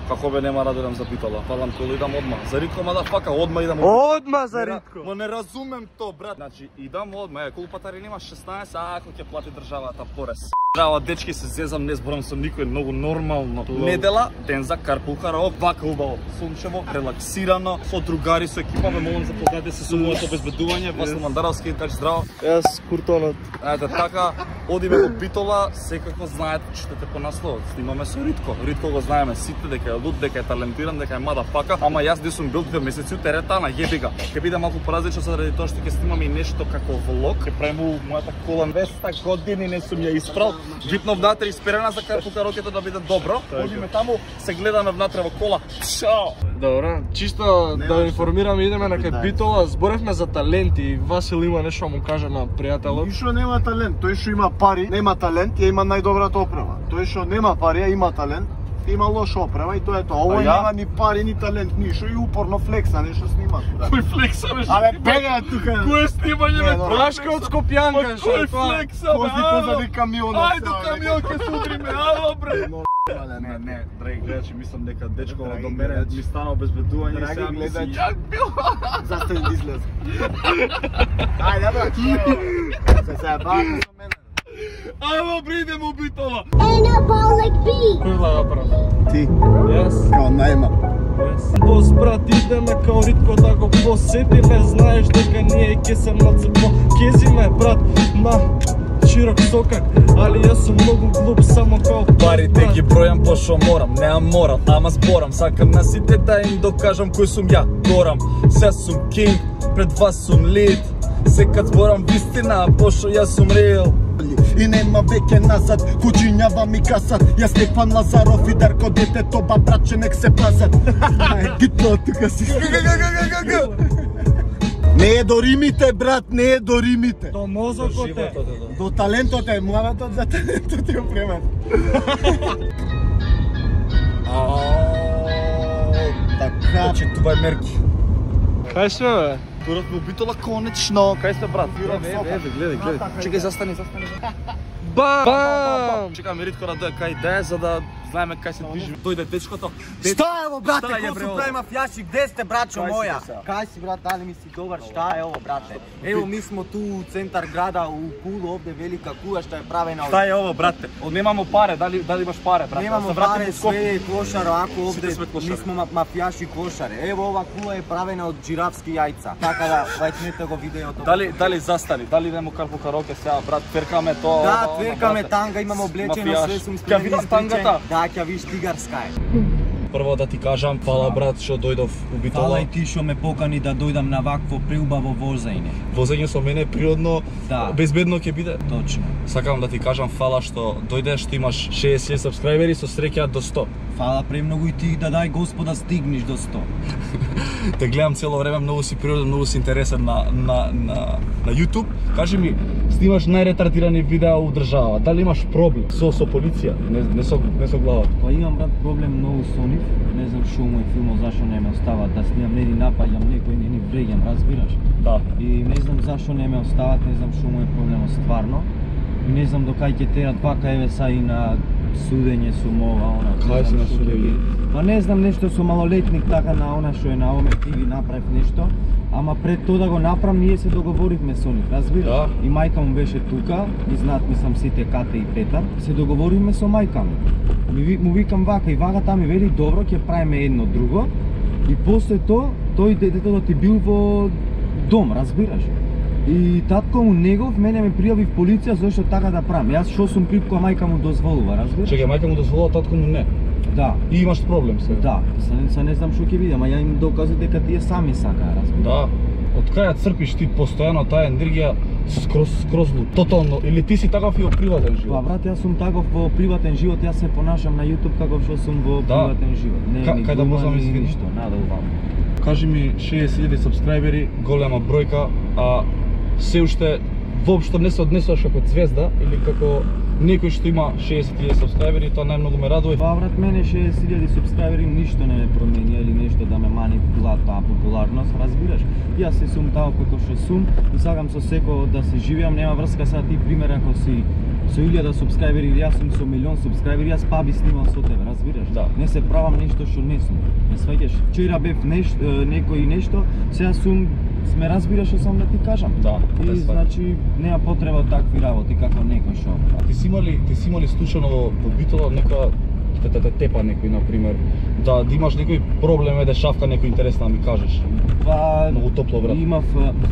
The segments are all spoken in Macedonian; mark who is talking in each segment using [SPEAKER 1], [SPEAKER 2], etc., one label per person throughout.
[SPEAKER 1] Како бе нема да додам за Битола? Фалам кола идам одма. За Ритко мадафака, одма идам.
[SPEAKER 2] Одма за Ритко.
[SPEAKER 1] Ма не разумем то, брат. Значи идам одма, колупатари нема 16, ако ќе плати државата порез. Држава, дечки се зезам, не зборам со никој, многу нормално. Недела, ден за карпул караок, вака убаво, сончево, релаксирано, со другари, со екипа, ме молам запознайте се со моето обезбедување, Васло Мандаровски, така здраво.
[SPEAKER 2] Јас Куртонот.
[SPEAKER 1] Ете така, одиме во Битола, секако знаете, читате по насловот, снимаме со Ритко. Ритко го знаеме сите, дека е луд, дека е талентиран, дека е мадафака, ама јас не сум бил 2 месеци у теретана, јебига. Ќе биде малку поразлично заради тоа што ќе снимаме и нешто како влог, ќе правиме мојата кола 200 години не сум ја испрал. Гипно внатре исперена за карпул караокето да биде добро. Одиме таму, се гледаме внатре во кола. Чао!
[SPEAKER 2] Добра, чисто да информираме, идеме на кај Битола, зборевме за таленти. Васил има нешто да му каже на пријателот.
[SPEAKER 3] Тој што нема талент, тој што има пари, нема талент, ја има најдобрата опрема. Тој што нема пари, ја има талент, има лоша опрема и тоа е тоа. Овој нема ни пари, ни талент, ништо и упорно флекса, нешто снима.
[SPEAKER 1] Кој флекса бе?
[SPEAKER 3] Абе, бега тука.
[SPEAKER 1] Кој е снимање бе?
[SPEAKER 2] Брашка од Скопјанка, што
[SPEAKER 1] Кој
[SPEAKER 2] е тоа?
[SPEAKER 1] флекса бе?
[SPEAKER 3] Кози позади камионот.
[SPEAKER 1] Ајде камион ќе се удриме, ало бре.
[SPEAKER 3] Не,
[SPEAKER 1] драги гледачи, мислам дека дечко до мене ми стана обезбедување и сега мисли јак бил.
[SPEAKER 3] Застани да излез. Ајде, брат. Се бавам со мене.
[SPEAKER 1] Ајде, бре, идеме у Битола.
[SPEAKER 2] Кој лага прав?
[SPEAKER 3] Ти,
[SPEAKER 2] Јас.
[SPEAKER 3] као најма.
[SPEAKER 2] Бос брат, идеме као Ритко да го посетиме. Знаеш дека ние ќе се мацепо кезиме брат на широк сокак, али јас сум многу глуп само као
[SPEAKER 1] Парите ги бројам пошто морам, неам морал, ама зборам. Сакам на сите да им докажам кој сум ја, горам. Се сум кинг, пред вас сум лид. Секад зборам вистина, пошто јас сум реал.
[SPEAKER 3] И нема веќе назад, кучињава ми касат. Јас Стефан Лазаров и Дарко детето, ба братче нек се пазат. Гитно тука си. Не е до римите, брат, не е до римите.
[SPEAKER 2] до мозокот е.
[SPEAKER 3] До талентот е, муаватот за талентот е опремен. Така.
[SPEAKER 1] Читувај мерки.
[SPEAKER 2] Кај сме бе?
[SPEAKER 1] Турот во Битола конечно. Кај сте брат? Гледај. Чекај, застани.
[SPEAKER 2] Бам!
[SPEAKER 1] Чекаме Ритко да дојде кај де за да знаеме кај се движи. Дојде дечкото.
[SPEAKER 4] Шта е ово, брате,
[SPEAKER 1] Шта е,
[SPEAKER 4] кој
[SPEAKER 1] бре,
[SPEAKER 4] се
[SPEAKER 1] ово?
[SPEAKER 4] прави мафијаши? Где сте, брачо
[SPEAKER 1] Кај си,
[SPEAKER 4] моја?
[SPEAKER 1] сега?
[SPEAKER 4] Кај си, брат, дали ми си добар? Шта е ово, брате? Ево, ми смо ту у центар града, у Кулу, овде велика куја што е правена од...
[SPEAKER 1] Шта е ово, брате? Немамо паре, дали имаш паре, брате?
[SPEAKER 4] Немамо паре, све е клошаро, ако овде
[SPEAKER 1] сме клошари.
[SPEAKER 4] ми смо мафијаши клошари. Ево, ова куја е правена од џирафски јајца. Така да, вајчнете го видеото.
[SPEAKER 1] Дали застани? Дали немо карпул караоке сега, брат? Тверкаме тоа.
[SPEAKER 4] Да, тверкаме танга, имам облечено,
[SPEAKER 1] Мафијаш.
[SPEAKER 4] све сум
[SPEAKER 1] Ќе
[SPEAKER 4] спремен
[SPEAKER 1] видам тангата?
[SPEAKER 4] Да, ќе видиш тигарска е.
[SPEAKER 1] Прво да ти кажам, фала брат што дојдов у Битола.
[SPEAKER 4] Фала и ти што ме покани да дојдам на вакво преубаво возење.
[SPEAKER 1] Возење со мене природно,
[SPEAKER 4] Да.
[SPEAKER 1] безбедно ќе биде.
[SPEAKER 4] Точно.
[SPEAKER 1] Сакам да ти кажам фала што дојдеш, што имаш 60 сабскрајбери, со среќа до 100.
[SPEAKER 4] Фала премногу и ти да дај Господа стигнеш до 100.
[SPEAKER 1] Те гледам цело време, многу си природен, многу си интересен на YouTube. Кажи ми, снимаш најретардирани видеа у држава. Дали имаш проблем со полиција? Не со главата.
[SPEAKER 4] Па имам брат проблем многу со нив. Не знам што му е филмот, зашо не ме остават да снимам, не ни напаѓам некој, не ни вреѓам, разбираш?
[SPEAKER 1] Да.
[SPEAKER 4] И не знам зашо не ме остават, не знам што му е проблемот стварно. И не знам до кај ќе терат, вака еве са и на судење сум ова, она.
[SPEAKER 1] Кај си на судење?
[SPEAKER 4] Па не знам нешто со малолетник така на она што е на Оме ТВ направив нешто. Ама пред тоа да го направам, ние се договоривме со нив, разбираш?
[SPEAKER 1] Да.
[SPEAKER 4] И мајка му беше тука, и знаат мислам сите Кате и Петар. Се договоривме со мајка му. Му викам вака и вака таа ми вели добро, ќе правиме едно друго. И после тоа, тој детето ти бил во дом, разбираш? И татко му негов мене ме пријави в полиција зашто така да правам. Јас што сум крив кога мајка му дозволува, разбираш?
[SPEAKER 1] Чекај, мајка му дозволува, татко му не.
[SPEAKER 4] Да.
[SPEAKER 1] И имаш проблем сега.
[SPEAKER 4] Да, се не знам што ќе видам, а ја им докази дека тие сами сакаа, разбираш?
[SPEAKER 1] Да. Од кај ја црпиш ти постојано таа енергија скроз луд, тотално, или ти си таков и во приватен
[SPEAKER 4] Па
[SPEAKER 1] живот?
[SPEAKER 4] брат, јас сум таков во приватен живот, јас се понашам на YouTube како што сум во приватен живот. Не, ни
[SPEAKER 1] Кај да
[SPEAKER 4] глума,
[SPEAKER 1] можам
[SPEAKER 4] ни
[SPEAKER 1] извини?
[SPEAKER 4] ништо, надолу.
[SPEAKER 1] Кажи ми 60.000 сабскрајбери, голема бројка, а се уште воопшто не се однесуваш како звезда или како некој што има 60.000 сабскрајбери, тоа најмногу ме радува.
[SPEAKER 4] Па брат, мене 60.000 субскрајбери ништо не ме промени или нешто да ме мани в таа популарност, разбираш? Јас сум тао како што сум и сакам со секој да се живеам, нема врска сега ти пример ако си со 1000 субскрајбери или јас сум со 1.000.000 субскрајбери, јас па би снимал со тебе, разбираш?
[SPEAKER 1] Да.
[SPEAKER 4] Не се правам нешто што не сум. Не сваќаш. Вчера бев некој нешто, сега сме разбираш што сам да ти кажам.
[SPEAKER 1] Да.
[SPEAKER 4] И значи нема потреба такви работи како некој шо.
[SPEAKER 1] Ти си имали случајно во Битола некоја тепа некој на пример, да имаш некој проблем, да шавка некој интересно да ми кажеш.
[SPEAKER 4] Па
[SPEAKER 1] многу топло брат.
[SPEAKER 4] Имав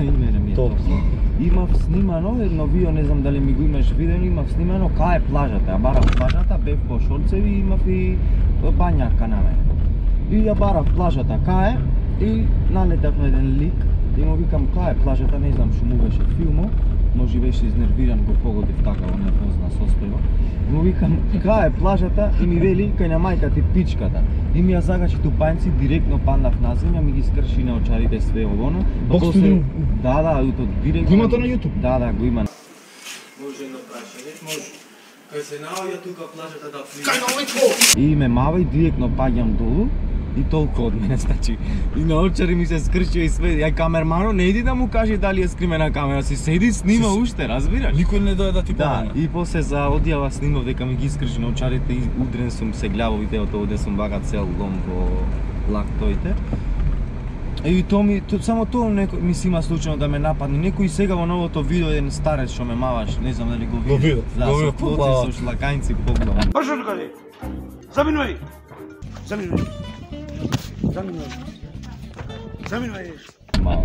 [SPEAKER 4] име ми е топло. Имав снимано едно видео, не знам дали ми го имаш видено, имав снимано кај е плажата. Ја барав плажата, бев по шорцеви и имав и бањарка на мене. И ја барав плажата кај е и налетав на еден лик и му викам кај е плажата, не знам што му беше филмо, може беше изнервиран, го погодив така во непозна состојба. Му викам кај е плажата и ми вели кај на мајка ти пичката. И ми ја загачи тупањци, директно паднав на земја, ми ги скрши на очарите све овоно. Да, директно.
[SPEAKER 1] Го имате на YouTube?
[SPEAKER 4] Да, го има. Може едно прашање, може. Кај се наоѓа тука плажата да плива. Кај на овој И ме мава и директно паѓам долу. И толку од мене, значи. И на очари ми се скрши и све. Ја камермано не иди да му каже дали е скримена камера, си седи, снима уште, разбираш?
[SPEAKER 1] Никој не дојде да ти
[SPEAKER 4] помогне. Да, и после за одјава снимав дека ми ги скрши на очарите и удрен сум се глава видеото овде сум вака цел лом во лактоите. И само тоа ми си има случајно да ме нападне. Некој сега во новото видео еден старец што ме маваш, не знам дали го види.
[SPEAKER 1] Го видов,
[SPEAKER 4] го видов, со шлакањци погледам.
[SPEAKER 5] Пошо тука де. Заминувај. Заминувај.
[SPEAKER 4] Мало.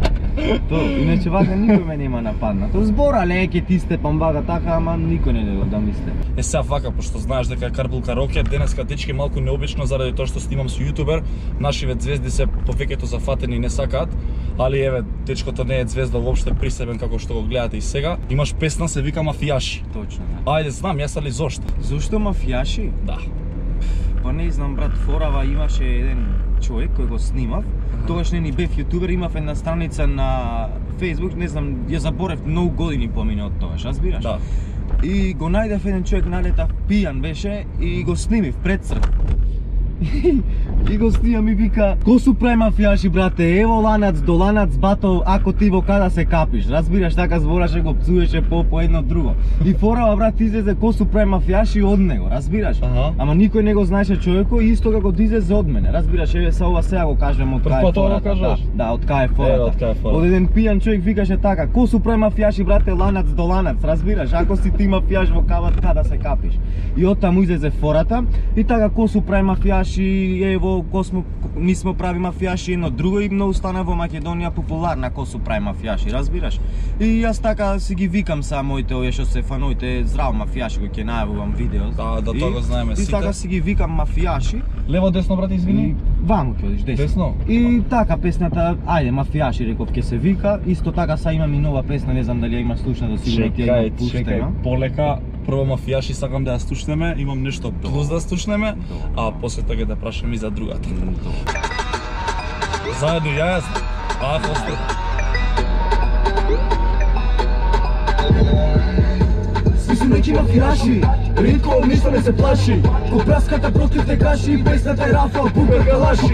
[SPEAKER 4] Иначе вака никој ме нема нападнато. Збора леке ти степам вака така, ама никој не дојде да мисле.
[SPEAKER 1] Сега вака, пошто знаеш дека е Карбул Кароке, денеска дечки малку необично заради тоа што снимам со јутубер, нашиве звезди се повеќето зафатени и не сакаат, али еве, дечкото не е звезда воопште присебен како што го гледате и сега. Имаш песна се вика Мафијаши.
[SPEAKER 4] Точно, да.
[SPEAKER 1] Ајде, знам, јас али зошто?
[SPEAKER 4] Зошто Мафијаши?
[SPEAKER 1] Да.
[SPEAKER 4] Па не знам брат, форава имаше еден човек кој го снимав. Тогаш не ни бев јутубер, имав една страница на Facebook, не знам, ја заборев многу години помине од тогаш, разбираш?
[SPEAKER 1] Да.
[SPEAKER 4] И го најдев еден човек, налетав пијан беше и го снимив пред црк. И го снимам и вика: "Ко су прави мафијаши брате, ево ланац до ланац бато, ако ти во када се капиш." Разбираш, така збораше, го пцуеше по едно друго. И форава брат излезе ко су прави мафијаши од него, разбираш? Ама никој не го знаеше човекот, исто како да излезе од мене. Разбираш, еве са ова сега го кажем од кај фората. Да, од кај фората. Од еден пијан човек викаше така: "Ко су прави мафијаши брате, ланац до ланац." Разбираш, ако си ти мафијаш во када се капиш. И оттаму излезе фората и така ко су прави мафијаши, ево ми смо прави мафијаши едно друго и многу стана во Македонија популарна ко су прави мафијаши, разбираш? И јас така си ги викам са моите овие што се фановите здраво мафијаши кои ќе најавувам видео.
[SPEAKER 1] Да, тоа го знаеме сите.
[SPEAKER 4] И така си ги викам мафијаши.
[SPEAKER 1] Лево десно брате, извини.
[SPEAKER 4] Ваму ќе одиш десно. И така песната, ајде мафијаши реков ќе се вика. Исто така са имам и нова песна, не знам дали ја има слушна, сигурно ти ја пуштена.
[SPEAKER 1] Полека. Прво мафијаши сакам да ја слушнеме, имам нешто плюс да слушнеме, а после тоа да прашам и за другата. Заедно јас, после.
[SPEAKER 2] Сви су неки мафијаши, ритко ништо не се плаши. Ко праската против те каши, песната е Рафал, Букар, Калаши.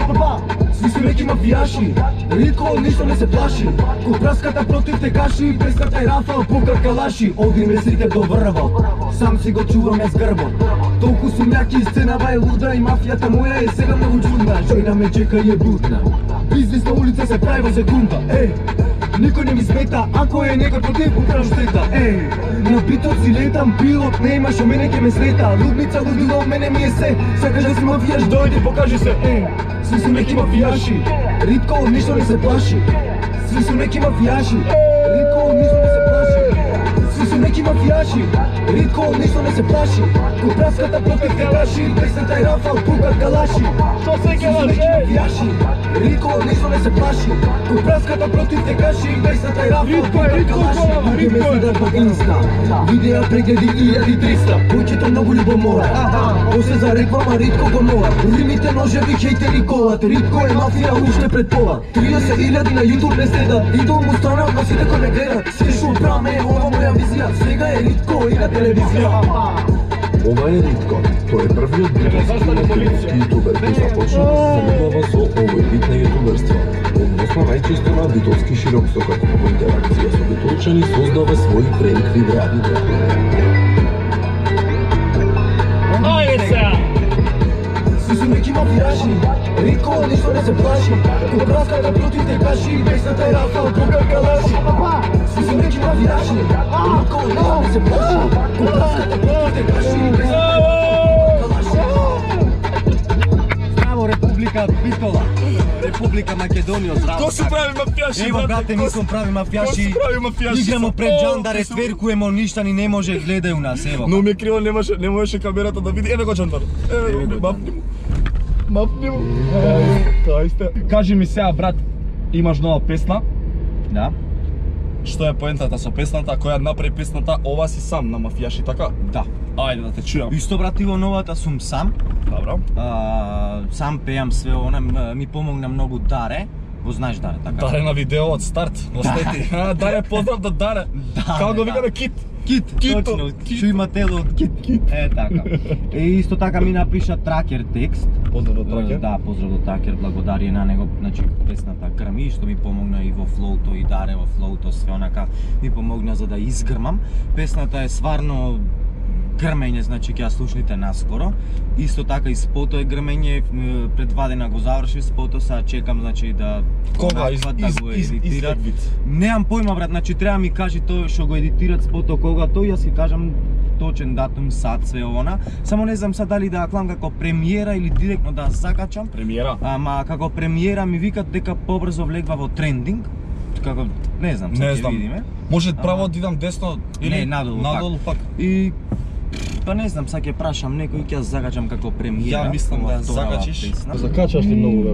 [SPEAKER 2] Сви су неки мафијаши, ритко ништо не се плаши. Ко праската против те каши, песната е Рафал, Букар, Калаши. Оди ме сите до врвот, сам си го чувам јас грбот. Толку сум јаки, сценава е луда и мафијата моја е сега многу чудна. Жојна ме чека и е бутна, бизнес на улица се прави во секунда. Никој не ми смета, ако е некој против, управам штета. На битот си летам, пилот нема шо мене ке ме слета. Лудница, лудило, мене ми е се. Сакаш да си мафијаш, дојди, покажи се. Сви су неки мафијаши, ритко од ништо не се плаши. Сви су неки мафијаши, ритко од ништо не се плаши. Сви су неки мафијаши, ритко од ништо не се плаши. Ко праската против те каши, песната е Рафал, Букар, Калаши. Што се мафијаши, ритко од ништо не се плаши. Ко праската против те каши, песната е Рафал, Букар, Калаши. Луѓе ме следат во Инста, видеа прегледи 1300. Појчето многу љубомора, после зареквама ритко го мора. Римите ножеви, хейтери колат, ритко е мафија уште пред пола. 30.000 на YouTube не следат, идол му станат, но сите кој ме гледат. Се шо праме, ова моја визија, сега е ритко и на телевизија.
[SPEAKER 6] Ова е Ритко, тој е првиот битолски македонски јутубер кој започна да се занимава со овој вид на јутуберство, односно најчесто на битолски широкстокак. Во интеракција со битолчани создава своји пренк видеа.
[SPEAKER 4] Сви су неки мафијаши, ритко ништо не се плаши. Кобраската против те каши, песната е Рафал, кога калаши. Сви су неки мафијаши, ритко ништо не се плаши. Кобраската против те каши, песната е Рафал, калаши. Здраво, Република Битола, Република Македонија, здраво.
[SPEAKER 1] Ко се прави мафијаши?
[SPEAKER 4] Ево, брате, ми сум прави мафијаши. Играмо пред Джандаре, тверкуемо, ништа ни не може, гледају нас, ево.
[SPEAKER 1] Но ми е криво, не можеше камерата да види. Еве го Джандар. Еве го, мапни му. Тоа исте. Кажи ми сега, брат, имаш нова песна?
[SPEAKER 4] Да.
[SPEAKER 1] Што е поентата со песната? Која направи песната? Ова си сам на мафијаши, така?
[SPEAKER 4] Да.
[SPEAKER 1] Ајде да те чујам.
[SPEAKER 4] Исто, брат, и во новата сум сам.
[SPEAKER 1] Добро.
[SPEAKER 4] Сам пеам све она, ми помогна многу Даре. Го знаеш Даре, така?
[SPEAKER 1] Даре на видео од старт, остети. Даре, поздрав да Даре. Како го викаме Кит?
[SPEAKER 4] Кит, точно, што има тело од кит. Е, така. Исто така ми напиша Тракер текст.
[SPEAKER 1] Поздрав до Тракер.
[SPEAKER 4] Да, поздрав до Тракер, благодарие на него, значи песната Грми, што ми помогна и во флоуто, и Даре во флоуто, све онака ми помогна за да изгрмам. Песната е сварно грмење, значи ќе ја слушнете наскоро. Исто така и спото е грмење, предвадена го заврши спото, сега чекам значи да
[SPEAKER 1] кога
[SPEAKER 4] го едитират. Немам појма, брат, значи треба ми кажи тој што го едитират спото кога тој, јас ќе кажам точен датум, сат, све она. Само не знам сад дали да ја клам како премиера или директно да закачам.
[SPEAKER 1] Премиера.
[SPEAKER 4] Ама како премиера ми викат дека побрзо влегва во трендинг. Како не знам,
[SPEAKER 1] не
[SPEAKER 4] ќе
[SPEAKER 1] знам.
[SPEAKER 4] видиме.
[SPEAKER 1] Може право да идам десно или
[SPEAKER 4] не, надолу
[SPEAKER 1] пак.
[SPEAKER 4] И па не знам, сега ќе прашам некој, ќе закачам како премиера.
[SPEAKER 1] Ја мислам да закачиш.
[SPEAKER 3] Закачаш ли многу, бе,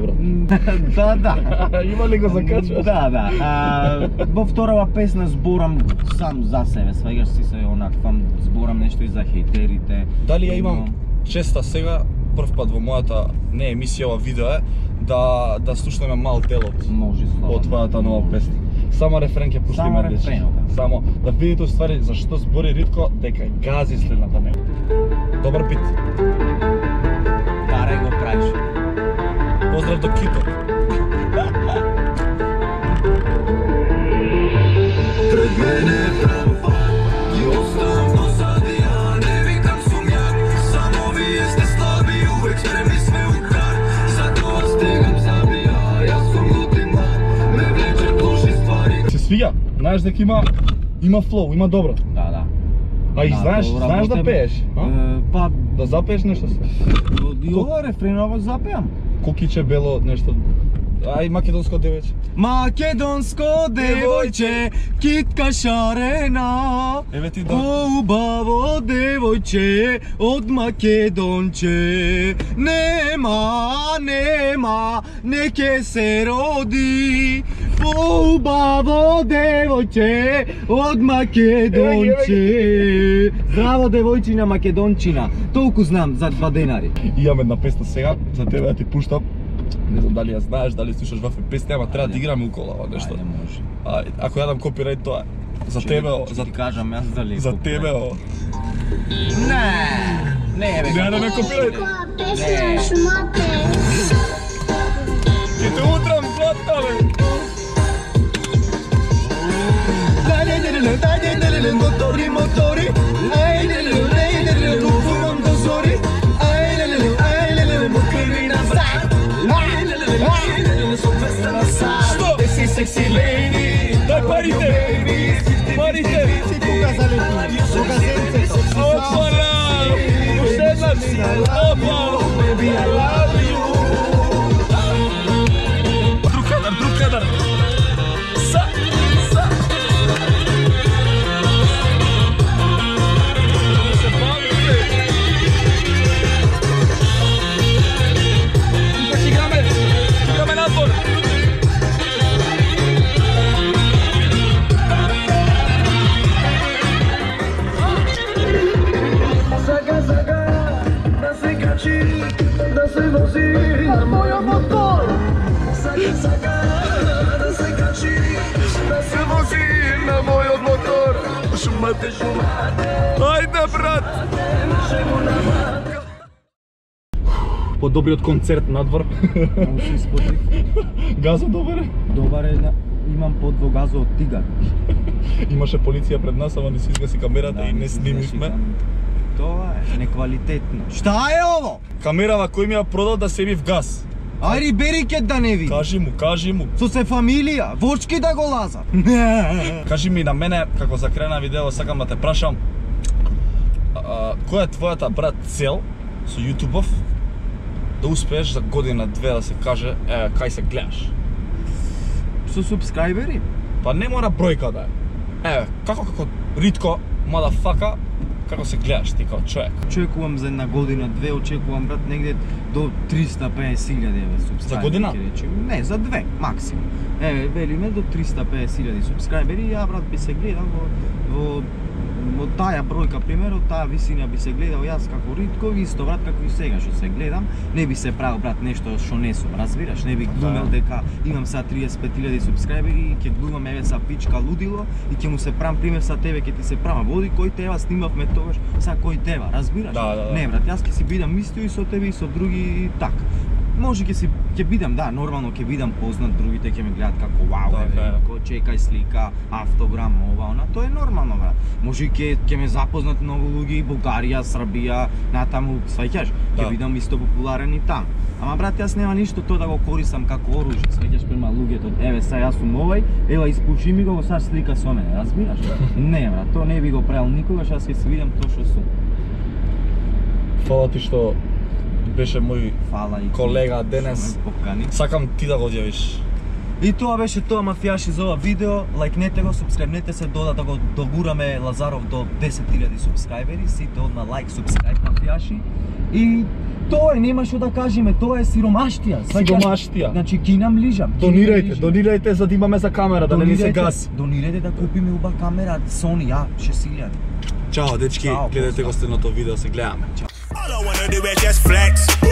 [SPEAKER 3] брат?
[SPEAKER 4] Да.
[SPEAKER 3] Има ли го закачаш?
[SPEAKER 4] Да. Во вторава песна зборам сам за себе, сваѓаш си се онаквам, зборам нешто и за хејтерите.
[SPEAKER 1] Дали ја имам честа сега, прв пат во мојата не емисија, ова видео е, да слушнеме мал дел
[SPEAKER 4] Може слободно.
[SPEAKER 1] од твојата нова песна. Само рефрен ќе пуштиме.
[SPEAKER 4] Само рефренот.
[SPEAKER 1] Само да видите уствари зашто збори Ритко дека гази следната него. Добар бит.
[SPEAKER 4] Даре го правиш.
[SPEAKER 1] Поздрав до Кито.
[SPEAKER 6] Пред мене прав пат и оставам досади, ја не викам сум јак. Само вие сте слаби, увек спремни сме у крак. Затоа стегам забија, јас сум лут и млад. Ме влече души ствари.
[SPEAKER 1] Се свиѓа? Знаеш дека има флоу, има добро.
[SPEAKER 4] Да.
[SPEAKER 1] А и знаеш да пееш?
[SPEAKER 4] Па
[SPEAKER 1] Да запееш нешто се?
[SPEAKER 4] и ова рефреново запеам.
[SPEAKER 1] Кукиче бело нешто. Ај македонско девојче.
[SPEAKER 4] Македонско девојче, китка шарена.
[SPEAKER 1] Еве ти да.
[SPEAKER 4] Убаво девојче од Македонче. Нема, не ке се роди. Убаво девојче од Македонче. Здраво девојчина Македончина. Толку знам за 2 денари.
[SPEAKER 1] Имам една песна сега за тебе да ти пуштам. Не знам дали ја знаеш, дали слушаш вафе песни, ама треба да играме укола ова нешто.
[SPEAKER 4] Ајде, може.
[SPEAKER 1] Ако ја дам копирајт тоа е. За тебе,
[SPEAKER 4] за ти кажам јас дали.
[SPEAKER 1] За тебе, о.
[SPEAKER 4] Не, бе.
[SPEAKER 1] Не да ме копирајт.
[SPEAKER 7] Песна шумате.
[SPEAKER 1] Ќе те утрам златна, бе.
[SPEAKER 4] Мотори. Фумам до зори. Секси леди,
[SPEAKER 1] дај парите! Парите!
[SPEAKER 4] Кога залети? Кога сенце?
[SPEAKER 1] Опара! Уште една си! Опа!
[SPEAKER 4] Baby, I love you.
[SPEAKER 1] Друг кадар! Са! Се бави, бе! Тука играме надвор!
[SPEAKER 6] Да се вози на мојот мотор. Сака да се качи, да се вози на мојот мотор. Шумате.
[SPEAKER 1] Ајде, брат! Подобриот концерт надвор.
[SPEAKER 4] Много се испотив.
[SPEAKER 1] Газо добар е?
[SPEAKER 4] Добар е, имам под во газо од тигар.
[SPEAKER 1] Имаше полиција пред нас, ама не си изгаси камерата и не снимивме.
[SPEAKER 4] Тоа е неквалитетно. Шта е ово?
[SPEAKER 1] Камерава кој ми ја продал да се бив газ.
[SPEAKER 4] Ајде бери ке да не види.
[SPEAKER 1] Кажи му.
[SPEAKER 4] Со се фамилија, вочки да го лазат.
[SPEAKER 1] Кажи ми на мене, како за крај на видео, сакам да те прашам, која е твојата, брат, цел со YouTube-ов да успееш за година-две да се каже, кај се гледаш?
[SPEAKER 4] Со субскрајбери?
[SPEAKER 1] Па не мора бројка да е. Како ритко, мадафака, како се гледаш ти како човек?
[SPEAKER 4] Очекувам за една година-две, очекувам, брат, негде до 350.000 субскрајбери.
[SPEAKER 1] За година?
[SPEAKER 4] Не, за две, максимум. Велиме до 350.000 субскрајбери, ја, брат, би се гледал во таа бројка, примерот, таа висина би се гледал јас како ритко, исто, брат, како и сега што се гледам, не би се правил, брат, нешто што не сум, разбираш, не би глумел дека имам са 35.000 субскрајбери и ќе глумам еве са пичка лудило и ќе му се правам пример са тебе, ќе ти се правам, води кој тева снимавме тогаш, са кој тева, разбираш?
[SPEAKER 1] Да.
[SPEAKER 4] Не, брат, јас ќе си бидам исто и со тебе и со други и така. Може ќе бидам, да, нормално ќе бидам познат, другите ќе ме гледат како вау, како чекај слика, автограм, ова, она, тоа е нормално, брат. Може и ќе ме запознат многу луѓе, Бугарија, Србија, натаму, сваќаш, ќе бидам исто популарен и таму. Ама, брат, јас нема ништо тоа да го користам како оружје, сваќаш, према луѓето, еве са јас сум овај, ева испуши ми го, саш слика со мене, разбираш? Не, брат, тоа не би го правил никогаш, јас ќе си видам тоа што сум.
[SPEAKER 1] Фала ти што беше мој колега денес. Сакам ти да го одјавиш.
[SPEAKER 4] И тоа беше тоа, мафијаши, за ова видео. Лајкнете го, субскрајбнете се, да го догураме Лазаров до 10.000 субскрајбери. Сите одма лајк, субскрајб, мафијаши. И тоа е, нема што да кажеме, тоа е сиромаштија.
[SPEAKER 1] Сиромаштија.
[SPEAKER 4] Значи ги нам лижам.
[SPEAKER 1] Донирајте за да имаме за камера, да не ни се гаси.
[SPEAKER 4] Донирајте да купиме уба камера, Sony, 6.000.
[SPEAKER 1] Чао, дечки, гледате го следното видео, се гледаме.
[SPEAKER 6] All I wanna do is just flex.